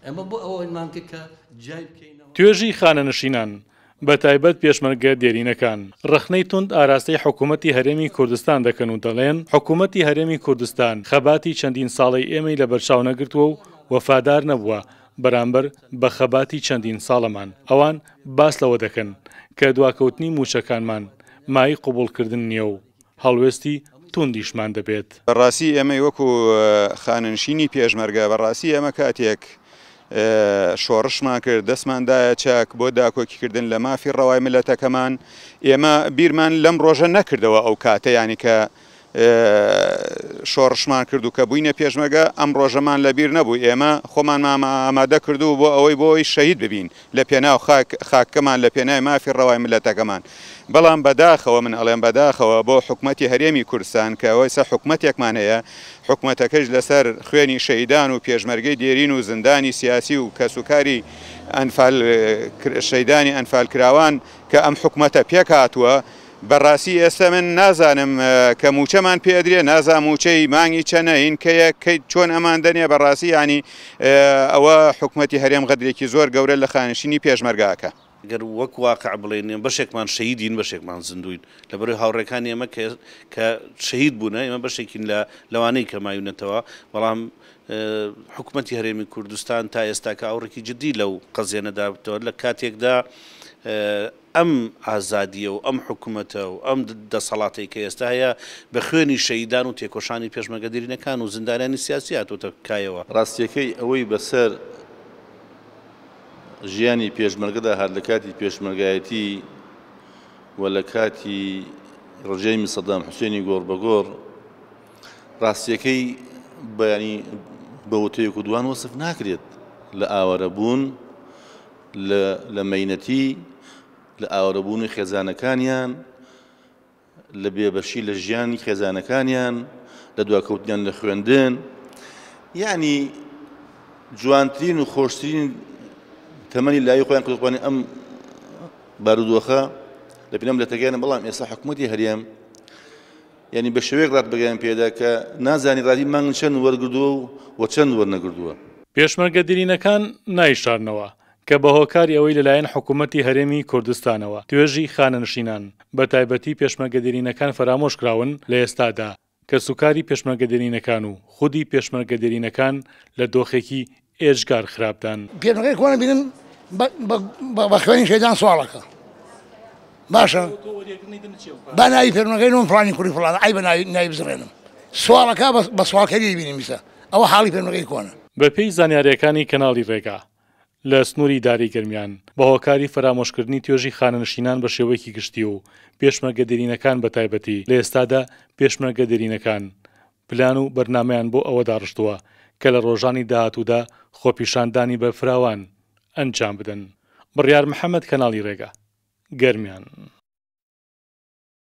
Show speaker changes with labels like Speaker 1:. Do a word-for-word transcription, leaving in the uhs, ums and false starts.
Speaker 1: ئێمە بۆ ئەوەمان کرد کە جیای بکەینەوە.
Speaker 2: توێژی خانەنشینان بە تایبەت پێشمەرگە دێرینەکان ڕەخنەی توند ئاراستەی حکوومەتی هەرێمی کوردستان دەکەن و دەڵێن حکوومەتی هەرێمی کوردستان خەباتی چەندین ساڵەی ئێمەی لەبەرچاو نەگرتووە و وەفادار نەبووە بەرامبەر بە خەباتی چەندین ساڵەمان. ئەوان باس لەوە دەکەن کە دواکەوتنی موچەکانمان مای قبوڵکردن نییە و هەڵوێستی توندیشمان دەبێت.
Speaker 3: بەڕاستی ئێمەی وەکو خانەنشینی پێشمەرگە، بەڕاستی ئێمە کاتێک شۆڕشمان کرد دەستماندایە چاک بۆ داکۆکیکردن لە مافی ڕەوای میللەتەکەمان، ئێمە بیرمان لەم ڕۆژە نەکردەوە ئەو کاتە، یانی کە شۆڕشمان کرد و کە بووینە پێشمەرگە ئەم ڕۆژەمان لەبیر نەبوو. ئێمە خۆمان ئامادە کردو بۆ ئەوەی بۆ ئەوەی شەهید ببین لە پێناو خاکەمان، لە پێناوی مافی ڕەوای میللەتەکەمان. بەڵام بەداخەوە من ئەڵێم بەداخەوە بۆ حکومەتی هەرێمی کوردستان کە ئەوەیسە حکومەتێکمان هەیە، حکومەتەکەش لەسەر خوێنی شەهیدان و پێشمەرگەی دێرین و زیندانی سیاسی و کەسوکاری شەهیدانی ئەنفالکراوان کە ئەم حکومەتە پێک هاتووە. بەڕاستی ئێستا من نازانم کە موچەمان پێدرێ، نازانم موچەی مانگی چەنە هین کەیە کەی چۆن ئەمان دەنێ. بەڕاستی ینی ئەوە حکومەتی هەرێم غەدرێکی زۆر گەورە لە خانەنشینی پێشمەرگاکە.
Speaker 4: ئەگەر وەک واقع بڵێن بەشێکمان شەهیدین بەشێکمان زیندوین، لەبەرەوەی هاوڕێکانی ئێمە کە شەهید بوونە ئێمە بەشێکین لە لەوانەی کە مایونەتەوە، بەڵام حکومەتی هەرێمی کوردستان تا ئێستاکە ئاوڕێکی جدی لەو قەزیە نەدابێتەوە. لە کاتێکدا ئەم ئازادیە و ئەم حکوومەتە و ئەم دەسەڵاتەی کە ئێستا هەیە بە خوێنی شەهیدان و تێکۆشانی پێشمەرگە دێرینەکان و زیندانیانی سیاسی هاتووەتە کایەوە.
Speaker 5: ڕاستیەکەی ئەوەی بەسەر ژیانی پێشمەرگەدا هات لە کاتی پێشمەرگایەتی و لە کاتی ڕژێمی سەدام حوسێنی گۆڕ بە گۆڕ، ڕاستیەکەی بەیانی بە وتەیەک و دوان وەسف ناکرێت لە ئاوارەبوون، لە مەینەتی، لە ئاوارەبوونی خێزانەکانیان، لە بێبەشی لە ژیانی خێزانەکانیان، لە دواکەوتنیان لە خوێندن، یعنی جوانترین و خۆشترین تەمەنی لای خۆیان کردوخوانی ئەم بارودۆخە لە پێناو میللەتەکەیانە. بەڵام ئێستا حکوومەتی هەرێم یعنی بە شێوەیەک ڕات بەگەیان پێدا کە نازانی ڕادی مانگ چەند وەرگردووە و چەند وەرنەگردووە.
Speaker 2: پێشمەرگە دێرینەکان نایشارنەوە کە بە هۆکاری ئەوەی لەلایەن حکوومەتی هەرێمی کوردستانەوە توێژی خانەنشینان بە تایبەتی پێشمەرگە دێرینەکان فەرامۆش کراون، لە ئێستادا کەسوکاری پێشمەرگە دێرینەکان و خودی پێشمەرگە دێرینەکان لە دۆخێکی ئێجگار خراپدان.
Speaker 6: پێشمەرگەی کۆنە بینم بە خوێنی شەیدان سواڵەکە باشە، با ناوی پێشمەرگەی نۆم فڵانی کوڕی فڵانە، ئەی بە ناوی بزڕێنم سواڵەکە بە سواڵکەری بینیم بیسە، ئەوە حاڵی پێشمەرگەی کۆنە.
Speaker 2: بەپێی زانیاریەکانی کەناڵی ڕێگا لە سنووری داری گەرمیان بە هۆکاری فەرامۆشکردنی توێژی خانەنشینان بە شێوەیەکی گشتی و پێشمەرگە دێرینەکان بە تایبەتی، لە ئێستادا پێشمەرگە دێرینەکان پلان و بەرنامەیان بۆ ئەوە داڕشتووە کە لە ڕۆژانی داهاتوودا خۆپیشاندانی بەرفراوان ئەنجام بدەن. بڕیار محەممەد، کەناڵی ڕێگا، گەرمیان.